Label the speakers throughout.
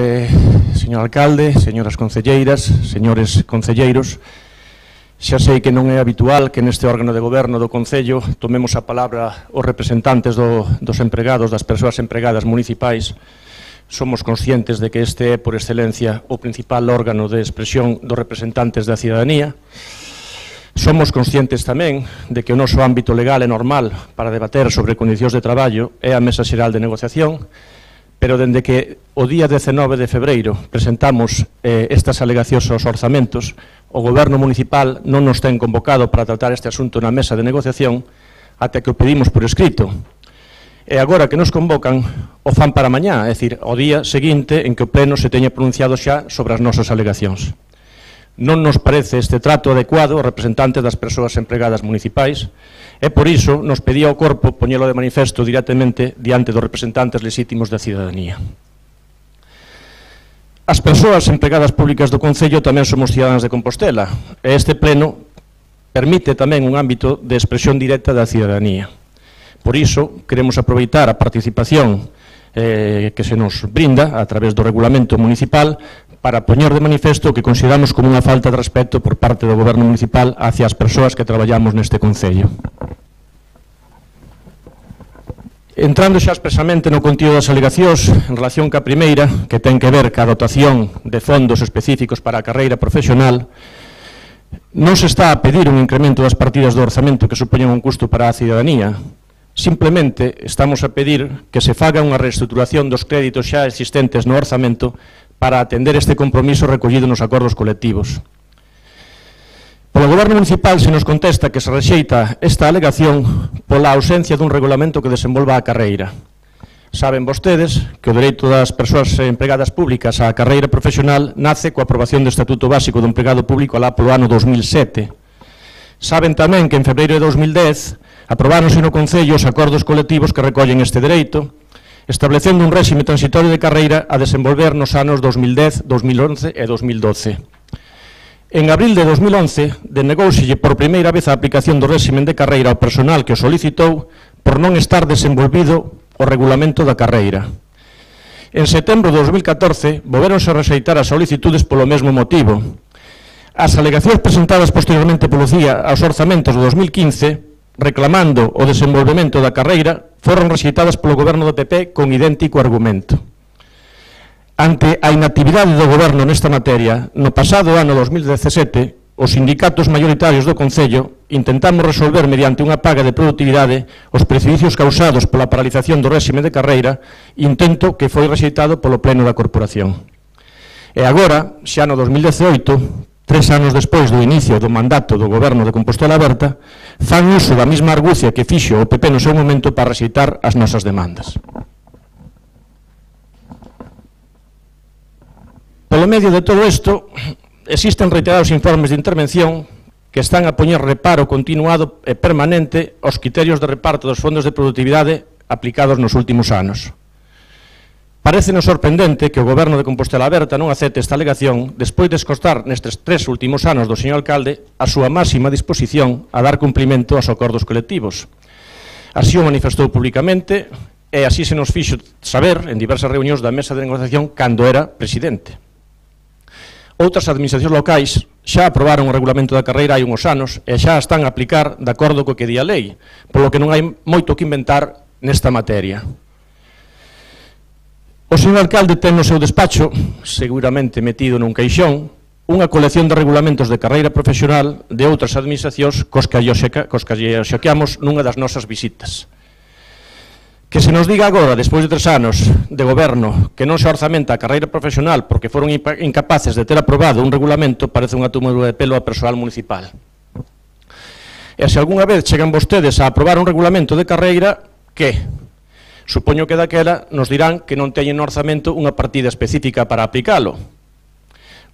Speaker 1: Señor alcalde, señoras concelleiras, señores concelleiros, xa sei que non é habitual que neste órgano de goberno do Concello tomemos a palabra os representantes dos empregados, das persoas empregadas municipais. Somos conscientes de que este é, por excelencia, o principal órgano de expresión dos representantes da cidadanía. Somos conscientes tamén de que o noso ámbito legal é normal para debater sobre condicións de traballo é a Mesa Xeral de Negociación, pero dende que o día 19 de febreiro presentamos estas alegacións aos orzamentos, o Goberno municipal non nos ten convocado para tratar este asunto na mesa de negociación até que o pedimos por escrito. E agora que nos convocan, o fan para mañá, é dicir, o día seguinte en que o Pleno se teña pronunciado xa sobre as nosas alegacións. Non nos parece este trato adecuado aos representantes das persoas empregadas municipais e por iso nos pedía ao corpo poñelo de manifesto directamente diante dos representantes lexítimos da cidadanía. As persoas empregadas públicas do Concello tamén somos cidadáns de Compostela e este pleno permite tamén un ámbito de expresión directa da cidadanía. Por iso queremos aproveitar a participación que se nos brinda a través do regulamento municipal para poñer de manifesto o que consideramos como unha falta de respeto por parte do Goberno municipal hacia as persoas que traballamos neste Concello. Entrando xa expresamente no contido das alegacións, en relación ca primeira, que ten que ver ca dotación de fondos específicos para a carreira profesional, non se está a pedir un incremento das partidas do orzamento que supoñen un custo para a cidadanía. Simplemente estamos a pedir que se faga unha reestruturación dos créditos xa existentes no orzamento para atender este compromiso recollido nos acordos colectivos. Polo Goberno municipal se nos contesta que se rexeita esta alegación pola ausencia dun regulamento que desenvolva a carreira. Saben vostedes que o dereito das persoas empregadas públicas á carreira profesional nace coa aprobación do Estatuto Básico do Empregado Público alá polo ano 2007. Saben tamén que en febreiro de 2010 aprobáronse no Concello os acordos colectivos que recollen este dereito, establecendo un réxime transitorio de carreira a desenvolver nos anos 2010, 2011 e 2012. En abril de 2011, denegóuselle por primeira vez a aplicación do réxime de carreira ao personal que o solicitou por non estar desenvolvido o regulamento da carreira. En setembro de 2014, volvéronse a rexeitar as solicitudes polo mesmo motivo. As alegacións presentadas posteriormente polo CIA aos orzamentos de 2015, reclamando o desenvolvemento da carreira, foron rexeitadas polo Goberno do PP con idéntico argumento. Ante a inactividade do Goberno nesta materia, no pasado ano 2017, os sindicatos maioritarios do Concello intentamos resolver mediante unha paga de produtividade os prexuízos causados pola paralización do réxime de carreira, intento que foi rexeitado polo Pleno da Corporación. E agora, xa no 2018, 3 anos despois do inicio do mandato do Goberno de Compostela Aberta, fan uso da mesma argucia que fixo o PP no seu momento para rexeitar as nosas demandas. Polo medio de todo isto, existen reiterados informes de intervención que están a poñer reparo continuado e permanente aos criterios de reparto dos fondos de produtividade aplicados nos últimos anos. Parécenos sorprendente que o Goberno de Compostela Aberta non acepte esta alegación despois de escostar nestes 3 últimos anos do señor alcalde a súa máxima disposición a dar cumprimento aos acordos colectivos. Así o manifestou públicamente e así se nos fixo saber en diversas reunións da mesa de negociación cando era presidente. Outras administracións locais xa aprobaron o regulamento da carreira hai uns anos e xa están a aplicar de acordo co que di a lei, polo que non hai moito que inventar nesta materia. O señor alcalde ten no seu despacho, seguramente metido nun caixón, unha colección de regulamentos de carreira profesional de outras administracións cos que lle xoqueamos nunha das nosas visitas. Que se nos diga agora, despois de 3 anos de goberno, que non se orzamenta a carreira profesional porque foron incapaces de ter aprobado un regulamento, parece unha tómula de pelo a persoal municipal. E se algunha vez chegan vostedes a aprobar un regulamento de carreira, que? Supoño que daquela nos dirán que non teñen no orzamento unha partida específica para aplicalo.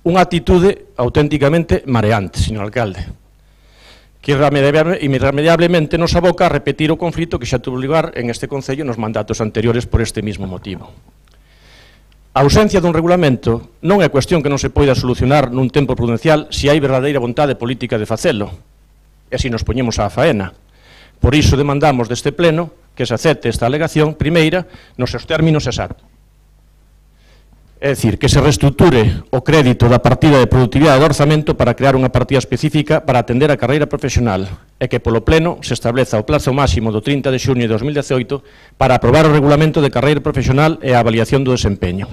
Speaker 1: Unha actitude auténticamente mareante, señor alcalde, que irremediablemente nos aboca a repetir o conflito que xa tuvo lugar en este Concello nos mandatos anteriores por este mismo motivo. A ausencia dun regulamento non é cuestión que non se poida solucionar nun tempo prudencial se hai verdadeira vontade política de facelo, e así nos poñemos á faena. Por iso demandamos deste pleno que se acepte esta alegación primeira nos seus términos exactos. É dicir, que se reestructure o crédito da partida de productividade do orzamento para crear unha partida específica para atender a carreira profesional e que polo Pleno se estableza o plazo máximo do 30 de xuño de 2018 para aprobar o regulamento de carreira profesional e a avaliación do desempeño.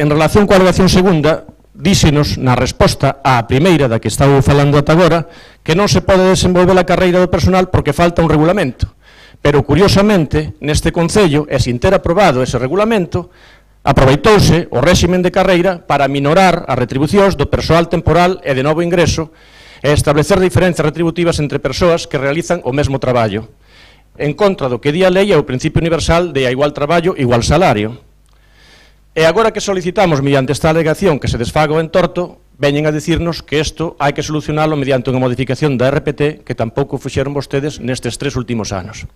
Speaker 1: En relación coa alegación segunda, díxenos na resposta á primeira da que estaba falando ata agora que non se pode desenvolver a carreira do personal porque falta un regulamento. Pero, curiosamente, neste Concello, e sin ter aprobado ese regulamento, aproveitouse o réximen de carreira para minorar as retribucións do persoal temporal e de novo ingreso e establecer diferencias retributivas entre persoas que realizan o mesmo traballo, en contra do que di a lei e o principio universal de a igual traballo, igual salario. E agora que solicitamos, mediante esta alegación, que se desfaga o entorto, veñen a dicirnos que isto hai que solucionalo mediante unha modificación da RPT que tampouco fixeron vostedes nestes 3 últimos anos.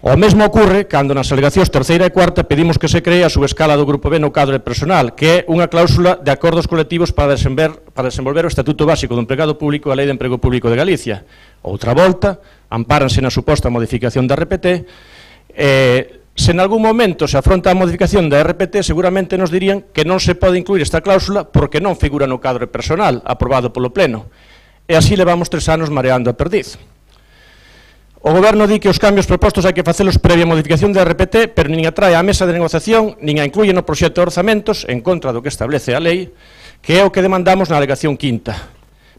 Speaker 1: O mesmo ocurre cando nas alegacións terceira e cuarta pedimos que se cree a subescala do Grupo B no cadro de personal, que é unha cláusula de acordos colectivos para desenvolver o Estatuto Básico do Empregado Público e a Lei de Emprego Público de Galicia. Outra volta, ampáranse na suposta modificación da RPT, se en algún momento se afronta a modificación da RPT, seguramente nos dirían que non se pode incluir esta cláusula porque non figura no cadro de personal aprobado polo Pleno. E así levamos 3 anos mareando a perdiz. O Goberno di que os cambios propostos hai que facelos previa modificación da RPT, pero nin a trae á mesa de negociación, nin a incluye no proxecto de orzamentos, en contra do que establece a lei, que é o que demandamos na alegación quinta.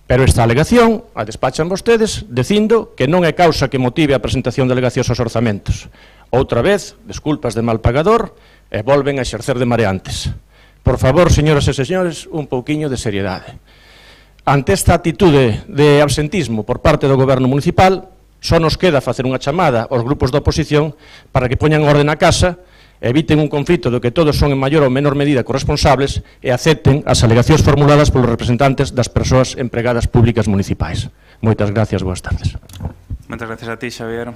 Speaker 1: Pero esta alegación a despachan vostedes dicindo que non é causa que motive a presentación de alegacións aos orzamentos. Outra vez, desculpas de mal pagador, e volven a exercer de mareantes. Por favor, señoras e señores, un pouquiño de seriedade. Ante esta atitude de absentismo por parte do Goberno municipal, só nos queda facer unha chamada aos grupos da oposición para que poñan orde na casa, eviten un conflito do que todos son en maior ou menor medida corresponsables e acepten as alegacións formuladas polos representantes das persoas empregadas públicas municipais. Moitas gracias, boas tardes.
Speaker 2: Moitas gracias a ti, Xavier.